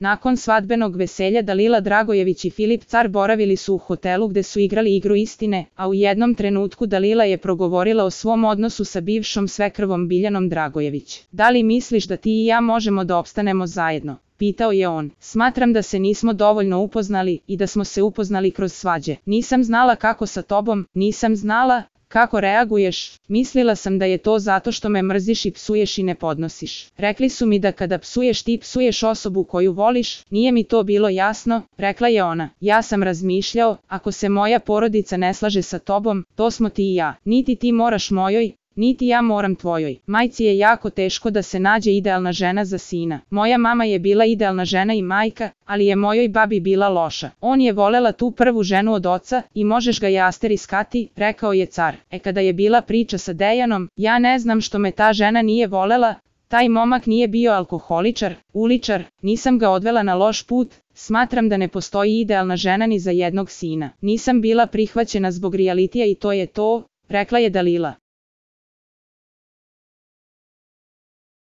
Nakon svadbenog veselja Dalila Dragojević i Filip Car boravili su u hotelu gde su igrali igru istine, a u jednom trenutku Dalila je progovorila o svom odnosu sa bivšom svekrvom Biljanom Dragojević. Da li misliš da ti i ja možemo da opstanemo zajedno? Pitao je on. Smatram da se nismo dovoljno upoznali i da smo se upoznali kroz svađe. Nisam znala kako sa tobom, nisam znala kako reaguješ, mislila sam da je to zato što me mrziš i psuješ i ne podnosiš. Rekli su mi da kada psuješ ti psuješ osobu koju voliš, nije mi to bilo jasno, rekla je ona. Ja sam razmišljao, ako se moja porodica ne slaže sa tobom, to smo ti i ja. Niti ti moraš mojoj, niti ja moram tvojoj. Majci je jako teško da se nađe idealna žena za sina. Moja mama je bila idealna žena i majka, ali je mojoj babi bila loša. On je volela tu prvu ženu od oca i možeš ga je asteriskati, rekao je car. Kada je bila priča sa Dejanom, ja ne znam što me ta žena nije volela, taj momak nije bio alkoholičar, uličar, nisam ga odvela na loš put, smatram da ne postoji idealna žena ni za jednog sina. Nisam bila prihvaćena zbog realitija i to je to, rekla je Dalila.